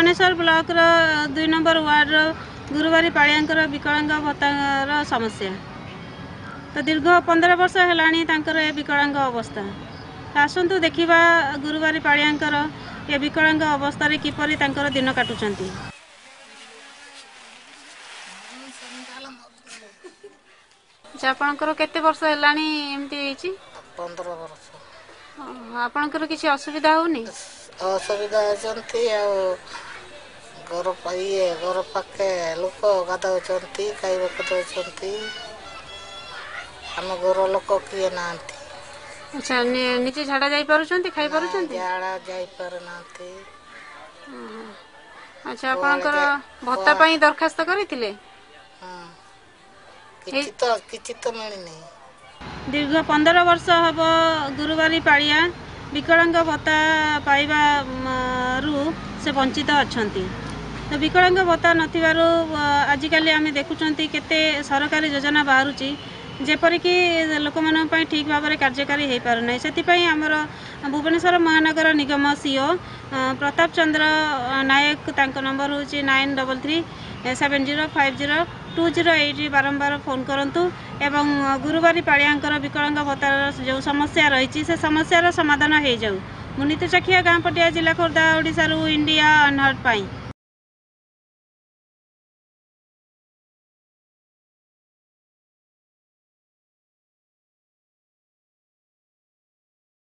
ଭୁବନେଶ୍ୱର ବ୍ଲକର 2 ନମ୍ବର ୱାର୍ଡ଼ର ଗୁରୁବାରୀ ପାଳିଆଙ୍କର ବିକଳାଙ୍ଗ ଭତ୍ତାର ସମସ୍ୟା। ତ ଦୀର୍ଘ 15 ବର୍ଷ ହେଲାଣି ତାଙ୍କର ଏ ବିକଳାଙ୍ଗ ଅବସ୍ଥା। ତ ଆସନ୍ତୁ ଦେଖିବା ଗୁରୁବାରୀ ପାଳିଆଙ୍କର ଏ ବିକଳାଙ୍ଗ ଅବସ୍ଥାରେ କିପରି ତାଙ୍କର ଦିନ କାଟୁଛନ୍ତି। ଆଚ୍ଛା, ଆପଣଙ୍କର କେତେ ବର୍ଷ ହେଲାଣି ଏମିତି ହେଇଛି? 15 ବର୍ଷ। ଆପଣଙ୍କର କିଛି ଅସୁବିଧା ହଉନି? ଅସୁବିଧା ହେଉଛନ୍ତି, ଆଉ ଘର ଇଏ ଘର ପାଖେ ଲୋକ ଗାଧଉଛନ୍ତି, ଖାଇବାକୁ ଦେଉଛନ୍ତି। ଆମ ଘର ଲୋକ କିଏ ନାହାନ୍ତି। ଆଚ୍ଛା, ନିଜେ ଝାଡ଼ା ଯାଇପାରୁଛନ୍ତି, ଖାଇପାରୁଛନ୍ତି? ଝାଡ଼ା ଯାଇପାରୁନାହାନ୍ତି। ଆଚ୍ଛା, ଆପଣଙ୍କର ଭତ୍ତା ପାଇଁ ଦରଖାସ୍ତ କରିଥିଲେ? କିଛି ତ ମିଳିନି। ଦୀର୍ଘ 15 ବର୍ଷ ହବ ଗୁରୁବାରୀ ପାଳିଆ ବିକଳାଙ୍ଗ ଭତ୍ତା ପାଇବାରୁ ସେ ବଞ୍ଚିତ ଅଛନ୍ତି। ତ ବିକଳାଙ୍ଗ ଭତ୍ତା ନଥିବାରୁ ଆଜିକାଲି ଆମେ ଦେଖୁଛନ୍ତି କେତେ ସରକାରୀ ଯୋଜନା ବାହାରୁଛି, ଯେପରିକି ଲୋକମାନଙ୍କ ପାଇଁ ଠିକ୍ ଭାବରେ କାର୍ଯ୍ୟକାରୀ ହୋଇପାରୁନାହିଁ। ସେଥିପାଇଁ ଆମର ଭୁବନେଶ୍ୱର ମହାନଗର ନିଗମ ସିଓ ପ୍ରତାପ ଚନ୍ଦ୍ର ନାୟକ, ତାଙ୍କ ନମ୍ବର ହେଉଛି 9337050208, ବାରମ୍ବାର ଫୋନ୍ କରନ୍ତୁ ଏବଂ ଗୁରୁବାରୀ ପାଳିଆଙ୍କର ବିକଳାଙ୍ଗ ଭତ୍ତାର ଯେଉଁ ସମସ୍ୟା ରହିଛି ସେ ସମସ୍ୟାର ସମାଧାନ ହେଇଯାଉ। ମୁଁ ନୀତୁ ଚାଖିଆ, ଗାଁ ପଟିଆ, ଜିଲ୍ଲା ଖୋର୍ଦ୍ଧା, ଓଡ଼ିଶାରୁ ଇଣ୍ଡିଆ ଅନହର୍ଡ ପାଇଁ।